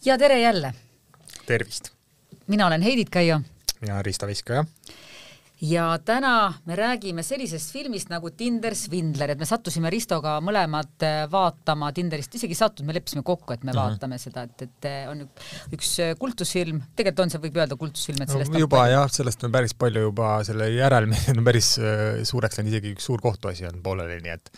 Ja tere jälle. Tervist. Mina olen Heidit Käio. Mina Riista Viskaja. Ja täna me räägime sellisest filmist nagu Tinder Svindler, et me sattusime Ristoga mõlemad vaatama Tinderist, isegi sattunud, me leppisime kokku, et me vaatame seda, et on üks kultusfilm, tegelikult on see, võib öelda kultusfilm, et sellest juba jah, sellest on päris palju juba selle järel, on päris suureks läinud, isegi üks suur kohtuasi on pooleli, nii et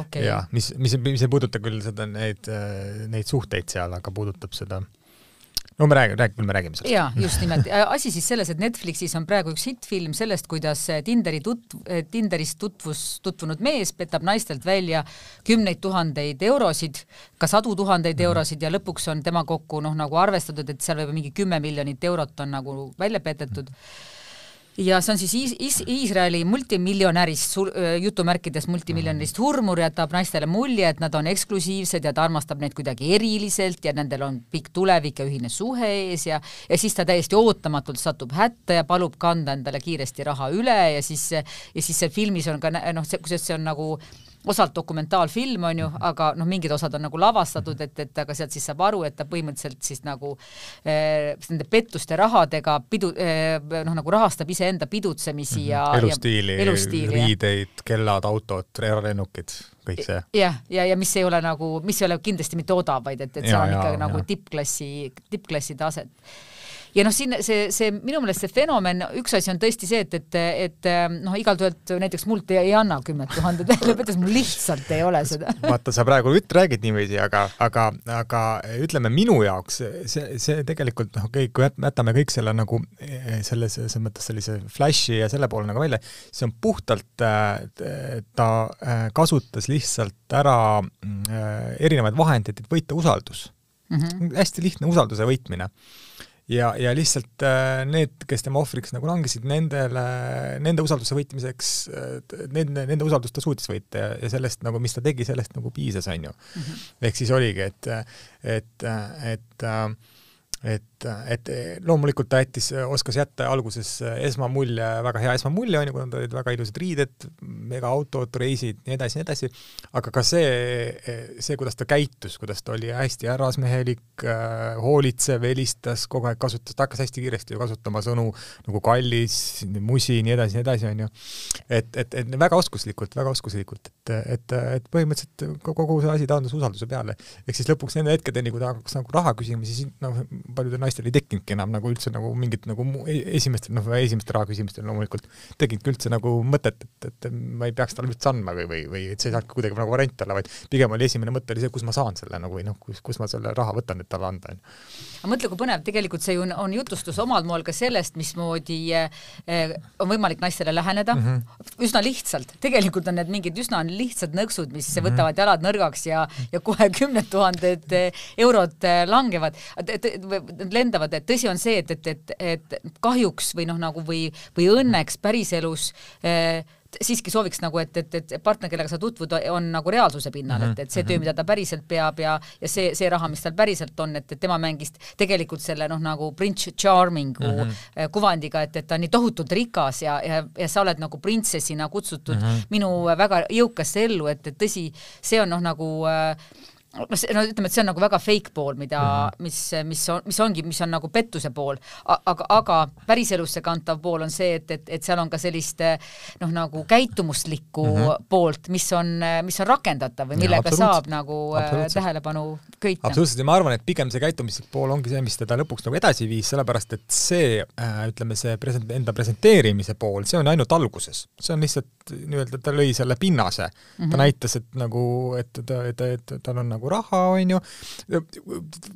okay. Ja, mis ei puuduta küll seda neid suhteid seal, aga puudutab seda no me räägime sellest. Jaa, just nimelt. Asi siis selles, et Netflixis on praegu üks hitfilm sellest, kuidas Tinderis tutvunud mees petab naistelt välja 10 000 eurosid, ka 100 000 eurosid ja lõpuks on tema kokku nagu arvestatud, et seal võib mingi 10 miljonit eurot on nagu välja petetud. Ja see on siis Iisraeli multimiljonärist, jutumärkides multimiljonärist hurmur, jätab naistele mulje, et nad on eksklusiivsed ja ta armastab neid kuidagi eriliselt ja nendel on pikk tulevik ja ühine suhe ees ja siis ta täiesti ootamatult satub hätta ja palub kanda endale kiiresti raha üle ja siis see filmis on ka, kusjuures see on nagu osalt dokumentaalfilm on ju, aga mingid osad on nagu lavastatud, et aga sealt siis saab aru, et ta põhimõtteliselt siis nagu nende pettuste rahadega nagu rahastab iseenda pidutsemisi ja elustiili, riideid, kellad, autod, lennukid, kõik see. Ja mis ei ole kindlasti mitte odav, vaid et see on ikka nagu tippklassi taset. Ja siin see minu meelest see fenomen, üks asi on tõesti see, et igalt ühelt näiteks mult ei anna 10 000, lõpetas mul lihtsalt ei ole seda. Vaata, sa praegu räägid niiviisi, aga ütleme minu jaoks, see tegelikult, kui jätame kõik selle nagu selles mõttes sellise flashi ja selle poole nagu välja, see on puhtalt, ta kasutas lihtsalt ära erinevaid vahendeid, et võita usaldus. Hästi lihtne usalduse võitmine. Ja lihtsalt need, kes tema ohvriks nagu langesid, nende usalduse võitmiseks, nende usaldust ta suutis võita ja sellest, nagu, mis ta tegi, sellest nagu piisas, on ju. Ehk siis oligi, et loomulikult ta oskas jätta alguses esmamulje, väga hea esmamulje, on ju, kui nad olid väga ilusad riided, mega autod, reisid, nii edasi, aga ka see, kuidas ta käitus, kuidas ta oli hästi härrasmehelik, hoolitsev, helistas, kogu aeg kasutas, ta hakkas hästi kiiresti kasutama sõnu nagu kallis, musi, nii edasi, on ju. Et väga oskuslikult, et põhimõtteliselt kogu see asi taandus usalduse peale. Ehk siis lõpuks nende hetkedeni, kui ta hakkas nagu raha küsima, siis paljudel naistel ei tekkinudki enam nagu üldse nagu mingit nagu esimeste raha küsimustel loomulikult tekkinud üldse nagu mõtet, et ma ei peaks talle üldse andma või et see ei saanud kuidagi nagu variant olla, vaid pigem oli esimene mõte oli see, kus ma saan selle nagu, või kus ma selle raha võtan, et talle anda. Aga mõtle, kui põnev, tegelikult see on jutustus omal moel ka sellest, mismoodi on võimalik naistele läheneda. Üsna lihtsalt. Tegelikult on need mingid üsna lihtsad nõksud, mis võtavad jalad nõrgaks ja kohe 10 000 eurot langevad. Lendavad, et tõsi on see, et kahjuks või õnneks päriselus siiski sooviks nagu, et partner, kellega sa tutvud, on nagu reaalsuse pinnal, et see töö, mida ta päriselt peab ja see raha, mis tal päriselt on, et tema mängist tegelikult selle nagu Prince Charmingu kuvandiga, et ta on nii tohutult rikas ja sa oled nagu printsessina kutsutud minu väga jõukasse ellu, et tõsi, see on nagu ütleme, et see on nagu väga fake pool, mis on nagu pettuse pool, aga päriselusse kantav pool on see, et seal on ka sellist nagu käitumuslikku poolt, mis on rakendatav või millega saab nagu tähelepanu köita. Absoluutselt, ja ma arvan, et pigem see käitumislik pool ongi see, mis teda lõpuks nagu edasi viis, sellepärast, et see, ütleme, see enda presenteerimise pool, see on ainult alguses. See on lihtsalt, ta lõi selle pinnase. Ta näitas, et tal on nagu raha, on ju,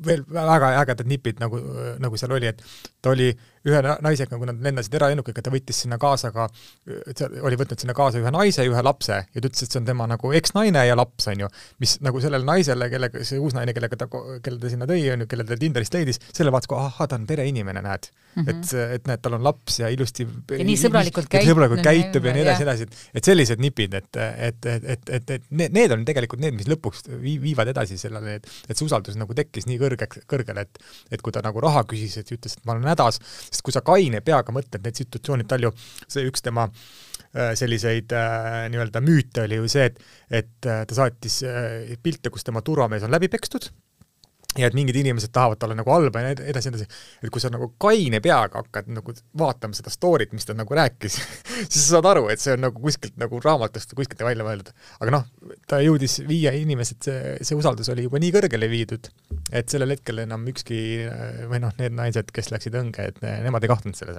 veel väga ägedad nipid, nagu seal oli, et ta oli ühe naisega, kui nad lendasid eralennukiga, ta võttis sinna kaasa oli võtnud sinna kaasa ühe naise ja ühe lapse ja ta ütles, et see on tema nagu eks-naine ja laps, on ju, mis nagu sellele naisele, see uus naine, kelle ta sinna tõi, on ju, kelle ta Tinderist leidis, selle vaatas, ta on tere inimene, näed. Et näed, tal on laps ja ilusti ja nii sõbralikult käitub ja nii edasi, et sellised nipid, et need on tegelikult need, mis lõpuks viivad edasi sellele, et see usaldus nagu tekkis nii kõrgele, et kui ta nagu raha küsis, et ütles, et ma olen hädas, sest kui sa kaine peaga mõtled need situatsioonid palju, see üks tema selliseid nii-öelda müüte oli ju see, et ta saatis pilte, kus tema turvamees on läbi pekstud ja et mingid inimesed tahavad talle nagu halba ja edasi, et kui sa nagu kaine peaga hakkad nagu vaatama seda story't, mis ta nagu rääkis, siis sa saad aru, et see on nagu kuskilt nagu raamatust kuskilt välja mõeldud. Aga noh, ta jõudis viia inimesed, see usaldus oli juba nii kõrgele viidud, et sellel hetkel enam ükski või noh, need naised, kes läksid õnge, et nemad ei kahtnud selles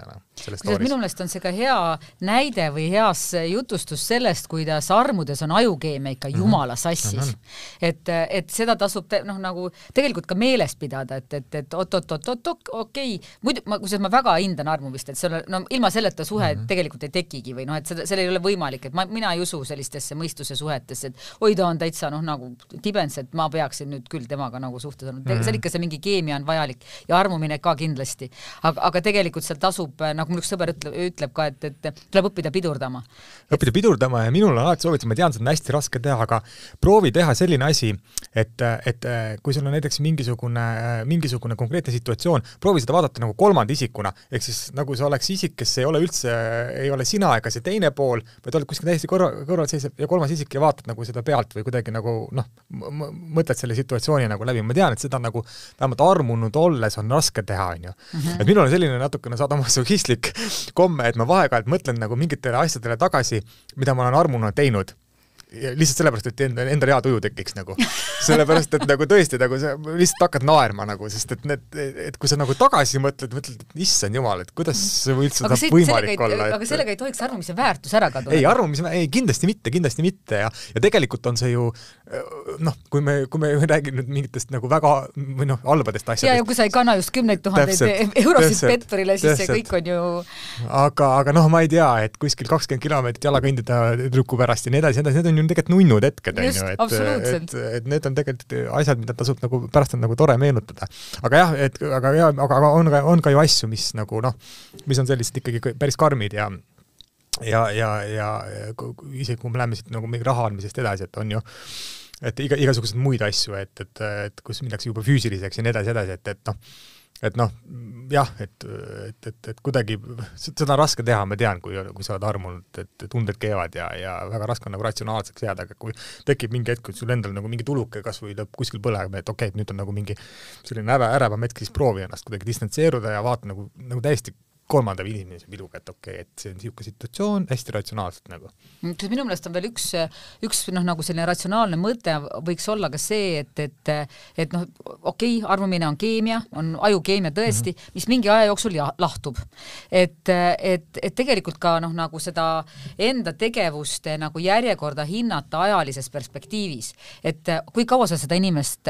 story's. Minu meelest on see ka hea näide või heas jutustus sellest, kuidas armudes on ajukeemia ikka jumala sassis. Et seda tasub nagu tegelikult ka meeles pidada, et okei. Muidu, ma väga hindan armumist, et ilma selleta suhe tegelikult ei tekigi või et selle ei ole võimalik, et mina ei usu sellistesse mõistuse suhetesse, et oi, ta on täitsa nagu tibens, et ma peaksin nüüd küll temaga nagu suhtes olnud. Seal ikka see mingi keemia on vajalik ja armumine ka kindlasti. Aga tegelikult seal tasub, nagu mul üks sõber ütleb ka, et tuleb õppida pidurdama. Õppida pidurdama ja minul on alati soovitus, ma tean, see on hästi raske teha, aga proovi teha selline asi, et kui sul on näiteks mingisugune konkreetne situatsioon, proovi seda vaadata nagu kolmanda isikuna, ehk siis nagu see oleks isik, kes ei ole üldse, ei ole sina ega see teine pool, vaid oled kuskil täiesti kõrval seisab ja kolmas isik ja vaatad nagu seda pealt või kuidagi nagu mõtled selle situatsiooni nagu läbi. Ma tean, et seda nagu vähemalt armunud olles on raske teha, on ju. Et minul on selline natukene sadomasohhistlik komme, et ma vahekalt mõtlen nagu mingitele asjadele tagasi, mida ma olen armununa teinud. Lihtsalt sellepärast, et enda hea tuju tekiks nagu. Sellepärast, et nagu tõesti nagu sa lihtsalt hakkad naerma nagu, sest et kui sa nagu tagasi mõtled, et issand jumal, et kuidas see üldse saab võimalik olla. Aga sellega ei tohiks armumise väärtus ära kaduda. Ei, kindlasti mitte. Ja tegelikult on see ju, kui me räägime nüüd mingitest nagu väga või halbadest asjadest. Ja kui sa ei kanna just 10 000 eurosid petturile, siis see kõik on ju... Aga ma ei tea, et kuskil 20 kilomeetrit jala kõndida trükku pärast ja nii edasi, need on ju tegelikult nunnud hetked, et need on tegelikult asjad, mida tasub nagu pärast on nagu tore meenutada. Aga jah, aga on ka ju asju, mis nagu mis on sellised ikkagi päris karmid ja isegi kui me läheme siit nagu mingi raha andmisest edasi, et on ju et igasugused muid asju, et kus minnakse juba füüsiliseks ja nii edasi, et kuidagi seda on raske teha, ma tean, kui sa oled armunud, et tunded keevad ja väga raske on nagu ratsionaalseks jääda, aga kui tekib mingi hetk, kui sul endal nagu mingi tuluke kas või lõpp kuskil põlema, et okei, et nüüd on nagu mingi selline ärevam hetk, siis proovi ennast kuidagi distantseeruda ja vaata nagu täiesti kolmanda inimese piluga, et okei, et see on niisugune situatsioon hästi ratsionaalselt nagu. Minu meelest on veel üks nagu selline ratsionaalne mõte võiks olla ka see, et okei, armumine on keemia, on ajukeemia tõesti, mis mingi aja jooksul lahtub. Et tegelikult ka nagu seda enda tegevuste nagu järjekorda hinnata ajalises perspektiivis. Et kui kaua sa seda inimest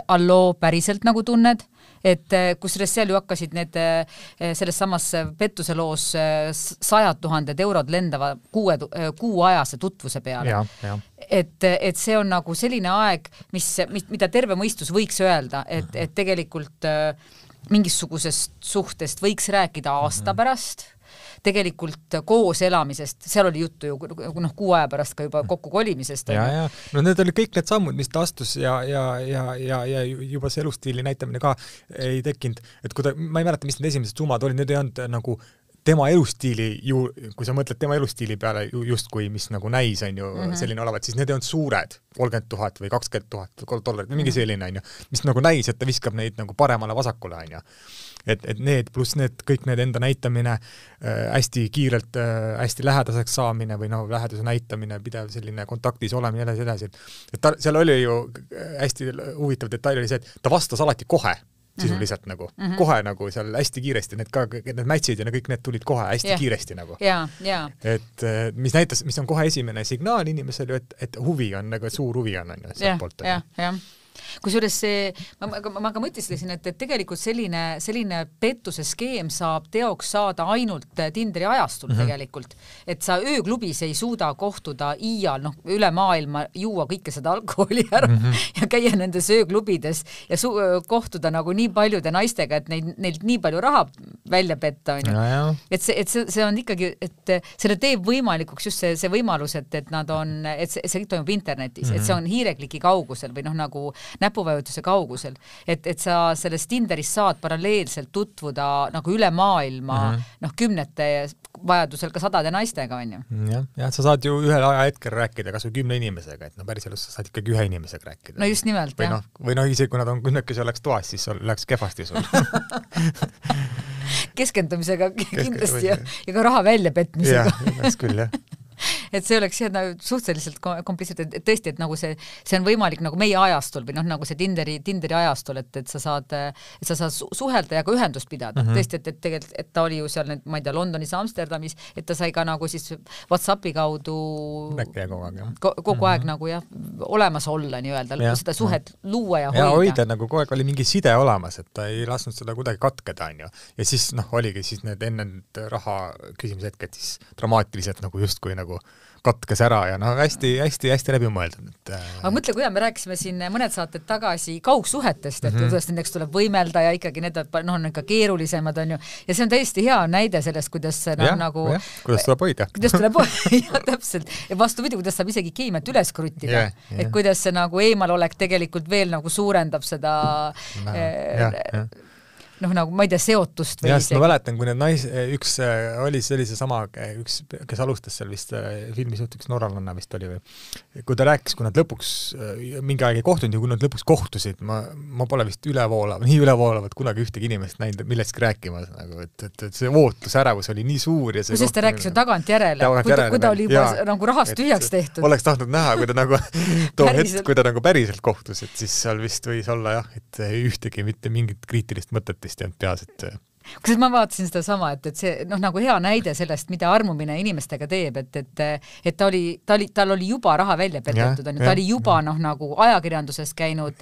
päriselt nagu tunned, et kusjuures seal ju hakkasid need selles samas pettuse loos 100 000 eurod lendava kuuajase tutvuse peale. Et see on nagu selline aeg, mida terve mõistus võiks öelda, et tegelikult mingisugusest suhtest võiks rääkida aasta pärast, tegelikult koos elamisest, seal oli juttu ju kuu aja pärast ka juba kokku kolimisest. Ja. Need oli kõik need sammud, mis ta astus ja juba see elustiili näitamine ka ei tekkinud, et ma ei mäleta, mis need esimesed summad olid, need ei olnud nagu tema elustiili kui sa mõtled tema elustiili peale justkui, mis nagu näis on ju selline olevat, siis need ei olnud suured, 30 000 või 20 000 dollarit või mingi selline on ju, mis nagu näis, et ta viskab neid nagu paremale vasakule on ju. Et need pluss kõik need enda näitamine, hästi kiirelt, hästi lähedaseks saamine või läheduse näitamine, pidev selline kontaktis olemine edasi. Et seal oli ju hästi huvitav detail oli see, et ta vastas alati kohe sisuliselt nagu, kohe nagu seal hästi kiiresti, need matchid ja kõik need tulid kohe hästi kiiresti nagu. Et mis on kohe esimene signaal inimesele, et huvi on, nagu suur huvi on sealt poolt. Kusjuures see, ma ka mõtlesin, et tegelikult selline pettuse skeem saab teoks saada ainult Tinderi ajastul tegelikult. Et sa ööklubis ei suuda kohtuda iial, üle maailma juua kõike seda alkoholi ära ja käia nendes ööklubides ja kohtuda nagu nii paljude naistega, et neilt nii palju raha välja petta. Et see on ikkagi, et selle teeb võimalikuks just see võimalus, et nad on, et see toimub internetis, et see on hiirekliki kaugusel või nagu näpuvajutuse kaugusel, et sa sellest Tinderis saad paralleelselt tutvuda nagu üle maailma kümnete vajadusel ka sadade naistega, on ju. Jah, sa saad ju ühel ajahetkel rääkida kas või 10 inimesega, et päris elus sa saad ikkagi ühe inimesega rääkida. No just nimelt, jah. Või isegi kui nad on kümnekesi oleks toas, siis läheks kehvasti sul. Keskendumisega kindlasti ja ka raha väljapetmisega. Jah, oleks küll, jah. Et see oleks suhteliselt komplitselt, et tõesti, et nagu see on võimalik nagu meie ajastul või nagu see Tinderi ajastul, et sa saad suhelda ja ka ühendust pidada. Tõesti, et tegelikult, et ta oli ju seal, ma ei tea, Londonis, Amsterdamis, et ta sai ka nagu siis WhatsAppi kaudu kogu aeg nagu jah, olemas olla nii-öelda, seda suhet luua ja hoida. Ja hoida nagu kogu aeg oli mingi side olemas, et ta ei lasknud seda kuidagi katkeda, on ju. Ja siis oligi siis need enne raha küsimise hetked siis dramaatiliselt nagu justkui nagu katkes ära ja hästi läbi mõeldud. Aga mõtle, kuidas me rääkisime siin mõned saated tagasi kaugsuhetest, et kuidas nendeks tuleb võimelda ja ikkagi need on ikka keerulisemad, on ju. Ja see on täiesti hea näide sellest, kuidas nagu... kuidas tuleb hoida. Kuidas tuleb hoida, täpselt. Ja vastupidi, kuidas saab isegi keemiat üles kruttida. Et kuidas see nagu eemalolek tegelikult veel nagu suurendab seda... nagu ma ei tea, seotust või isegi. Ma mäletan, kui need üks oli seesama, kes alustas seal vist filmis üks norralanna vist oli või, kui ta rääkis, kui nad lõpuks mingi aeg ei kohtunud ja kui nad lõpuks kohtusid, ma pole vist nii ülevoolavat kunagi ühtegi inimest näinud millestki rääkimas, nagu, et see ootusärevus oli nii suur ja see kusest ta rääkis ju tagantjärele, kui ta oli juba nagu rahast tühjaks tehtud. Oleks tahtnud näha, kui ta nagu too hetk, kui ta nagu päriselt kohtus, et siis seal vist võis olla jah, et ühtegi mitte mingit kriitilist mõtetist peas, et kusjuures ma vaatasin seda sama, et see nagu hea näide sellest, mida armumine inimestega teeb, et tal oli juba raha välja petetud, ta oli juba nagu ajakirjanduses käinud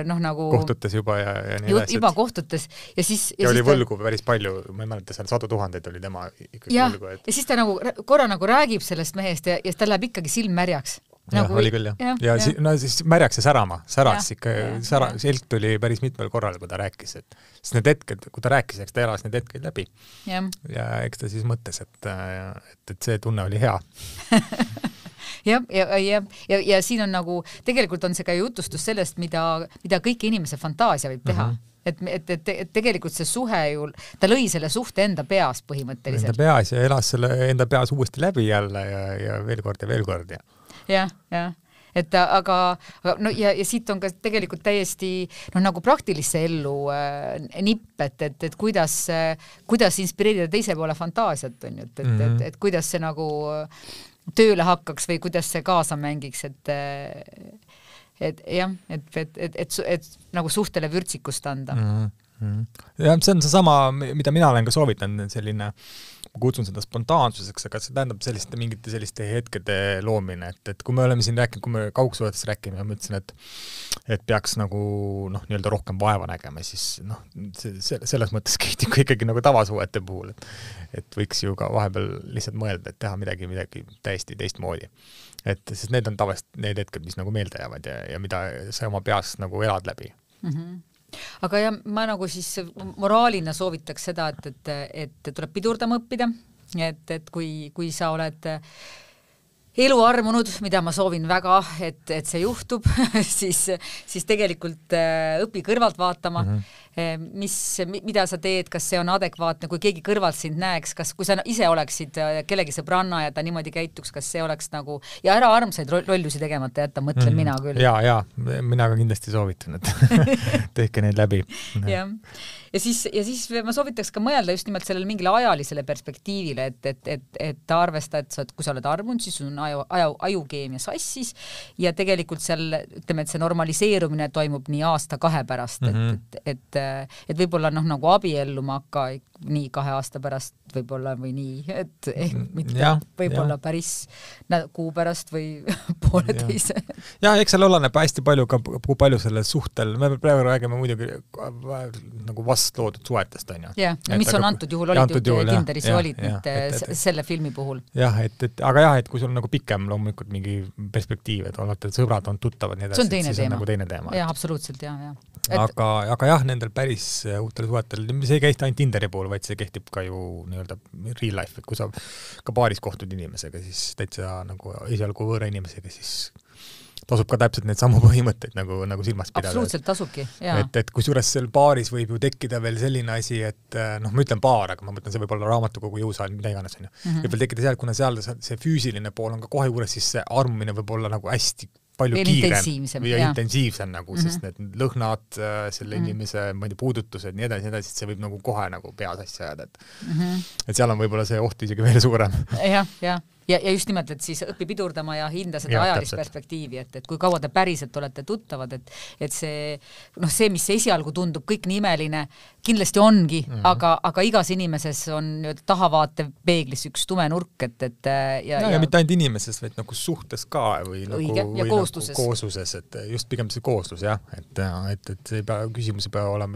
nagu kohtutes juba ja nii edasi. Juba kohtutes ja siis... Ja oli võlgu päris palju, ma ei mäleta, seal 100 000 oli tema ikkagi võlgu. Ja siis ta nagu korra nagu räägib sellest mehest ja ta läheb ikkagi silm märjaks. Nagu oli küll, jah. Ja siis märjaks ja säras ikka, selg tuli päris mitmel korral, kui ta rääkis, et siis need hetked, kui ta rääkis, eks ta elas need hetked läbi. Ja eks ta siis mõttes, et see tunne oli hea. Ja siin on nagu, tegelikult on see ka jutustus sellest, mida kõik inimese fantaasia võib teha. Et tegelikult see suhe ju, ta lõi selle suhte enda peas põhimõtteliselt. Enda peas ja elas selle enda peas uuesti läbi jälle ja veel kord. Jah. Et aga ja siit on ka tegelikult täiesti nagu praktilisse ellu nipp, et kuidas inspireerida teise poole fantaasiat, on ju, et kuidas see nagu tööle hakkaks või kuidas see kaasa mängiks, et nagu suhtele vürtsikust anda. Ja see on seesama, mida mina olen ka soovitanud, selline ma kutsun seda spontaansuseks, aga see tähendab mingite selliste hetkede loomine, et kui me oleme siin rääkinud, kui me kaugsuhetes rääkime, ma ütlesin, et peaks nagu nii-öelda rohkem vaeva nägema, siis selles mõttes kehtib ikkagi nagu tavasuhete puhul, et võiks ju ka vahepeal lihtsalt mõelda, et teha midagi täiesti teistmoodi. Sest need on tavaliselt need hetked, mis nagu meelde jäävad ja mida sa oma peas nagu elad läbi. Aga ja ma nagu siis moraalina soovitaks seda, et tuleb pidurdama õppida, et kui sa oled elu armunud, mida ma soovin väga, et see juhtub, siis tegelikult õpi kõrvalt vaatama, mida sa teed, kas see on adekvaatne, kui keegi kõrvalt sind näeks, kui sa ise oleksid kellegi sõbranna ja ta niimoodi käituks, kas see oleks nagu, ja ära armsaid lollusi tegemata jätta, mõtlen mina küll. Ja, mina ka kindlasti soovitan, et tehke neid läbi. Ja siis ma soovitaks ka mõelda just nimelt sellele mingile ajalisele perspektiivile, et arvesta, et kui sa oled armunud, siis on ajukeemia sassis ja tegelikult seal, ütleme, et see normaliseerumine toimub nii aasta-2 pärast, et võib-olla nagu abielluma hakka nii 2 aasta pärast võib-olla või nii, et mitte võib-olla päris kuu pärast või pooleteise. Ja eks seal oleneb hästi palju ka, kui palju selle suhtel, me praegu räägime muidugi nagu vastloodud suhetest, on ju. Ja, mis on antud juhul olid Tinderis ja olid selle filmi puhul. Jah, aga et kui sul on nagu pikem loomulikult mingi perspektiiv, et olete sõbrad, on tuttavad, nii edasi, siis on nagu teine teema. Jah, absoluutselt, jah. Aga jah, nendel päris uutel suhetel, see ei käista ainult Tinderi pool, vaid see kehtib ka ju nii-öelda real life, et kui sa ka baaris kohtud inimesega, siis täitsa nagu esialgu võõra inimesega, siis tasub ka täpselt neid samu põhimõtteid nagu silmas pidada. Absoluutselt tasubki, jaa. Et kusjuures seal baaris võib ju tekkida veel selline asi, et ma ütlen baar, aga ma mõtlen, see võib olla raamatukogu jõusaal, mida iganes on ju. Võib veel tekkida seal, kuna seal see füüsiline pool on ka kohe juures, siis see armumine võib olla nagu hästi palju kiirem või intensiivsem nagu, sest need lõhnad, selle inimese puudutused, nii edasi, see võib nagu kohe nagu peas asja ajada, et seal on võib-olla see oht isegi veel suurem. Ja just nimelt, et siis õpi pidurdama ja hinda seda ajalist perspektiivi, et kui kaua te päriselt olete tuttavad, et see, mis esialgu tundub kõik nii imeline, kindlasti ongi, aga igas inimeses on tahavaate peeglis üks tume nurk, ja mitte ainult inimeses, vaid nagu suhtes ka või koosluses, et just pigem see kooslus, jah, et küsimus ei pea olema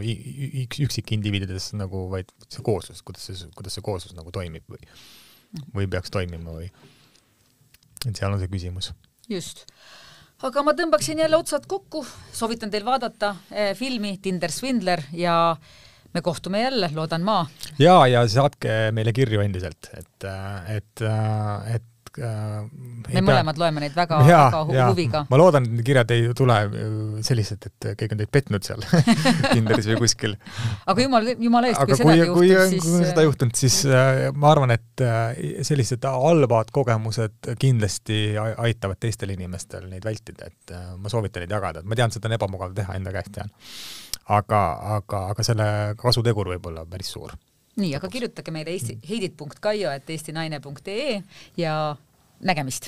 üksik indiviidides nagu, vaid see kooslus, kuidas see kooslus nagu toimib või peaks toimima või et seal on see küsimus. Just. Aga ma tõmbaksin jälle otsad kokku, soovitan teil vaadata filmi Tinder Swindler ja me kohtume jälle, loodan ma. Ja saatke meile kirju endiselt, et me mõlemad loeme neid väga huviga. Ma loodan, et kirjad ei tule sellised, et keegi on teid petnud seal Tinderis või kuskil. Aga jumala eest, kui sedagi juhtub, siis... Kui seda juhtunud, siis ma arvan, et sellised halvad kogemused kindlasti aitavad teistel inimestel neid vältida, et ma soovitan neid jagada. Ma tean, seda on ebamugav teha, enda käest tean. Aga selle kasutegur võib olla päris suur. Nii, aga kirjutage meile heidit.kaio@eestinaine.ee ja nägemist.